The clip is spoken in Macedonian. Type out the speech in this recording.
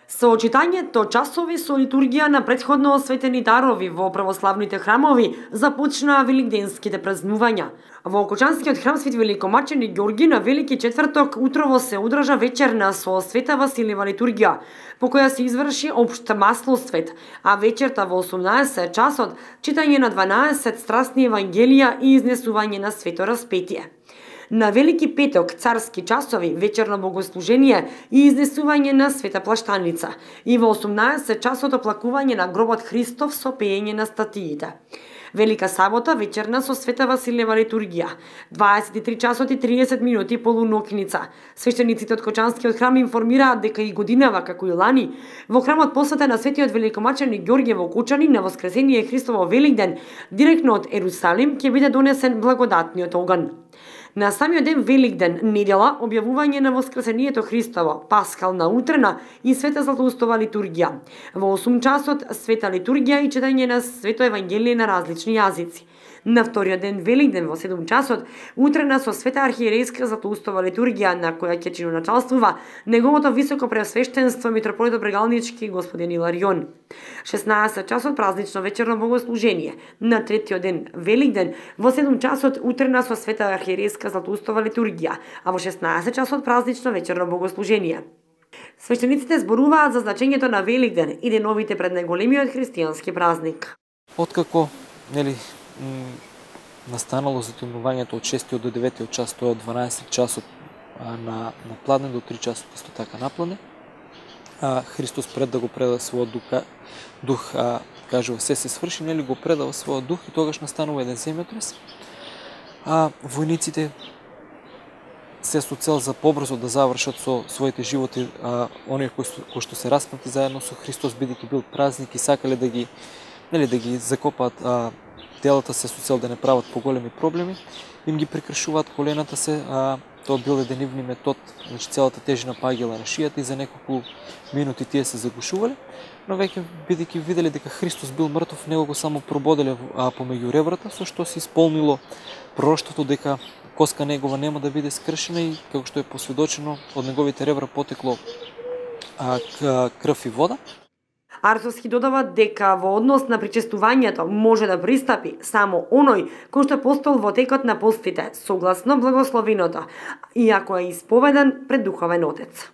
Со читањето часови со литургија на претходно осветени дарови во православните храмови започнаа великденските празнувања. Во Кочанскиот храм Свети Великомачени Ѓорги на Велики четврток утрово се одржа вечерна со Света Василева литургија, по која се изврши општ маслосвет, а вечерта во 18 часот читање на 12 страстни евангелија и изнесување на свето распетие. На Велики петок царски часови, вечерно богослужение и изнесување на света плаштаница и во 18 часот оплакување на гробот Христов со пеење на статиите. Велика сабота вечерна со Света Василева литургија, 23 часот и 30 минути полунокница. Свештениците од Кочанскиот храм информираат дека и годинава како и лани во храмот посветен на Светиот Великомачени Ѓорѓе во Кочани на Воскресение Христово Великден, директно од Ерусалим ќе биде донесен благодатниот оган. На самиот ден Великден, недела, објавување на Воскресението Христово, пасхална утрена и света Златоустова литургија. Во 8 часот света литургија и читање на свето евангелие на различни јазици. На вториот ден Великден во 7 часот утрена со света архиерейска Златоустова литургија на која ќе чиноначалствува неговото високо преосвештенство митрополитот Брегалнички господин Иларион. 16 часот празнично вечерно богослужение. На третиот ден Великден во 7 часот утрена со света архиерейска Златоустова литургија, а во 16 часот празнично вечерно богослужение. Свештениците зборуваат за значењето на Великден и деновите пред најголемиот христијански празник. Откако настанало затојнувањето од 6 до 9 час, тоа од 12 часот на пладне до 3 часот исто така на пладне, Христос пред да го преда својот дух, кажува се сврши, нели го предава својот дух и тогаш настанува еден земјотрес. Војниците се со цел за побрзо да завршат со своите животи оние кои што се распнати заедно со Христос, бидејќи бил празник и сакале да ги закопаат телата се со цел да не прават поголеми проблеми, им ги прекршуваат колената се, тоа бил еден нивни метод, значи целата тежина паѓала на шијата и за неколку минути тие се загушувале, но веќе бидејќи виделе дека Христос бил мртов, него го само прободеле помеѓу ребрата, со што се исполнило пророштвото дека коска негова нема да биде скршена и како што е посведочено од неговите ребра потекло крв и вода. Арцовски додава дека во однос на причестувањето може да пристапи само оној кој што постол во текот на постите, согласно благословеното, иако е исповедан пред духовен отец.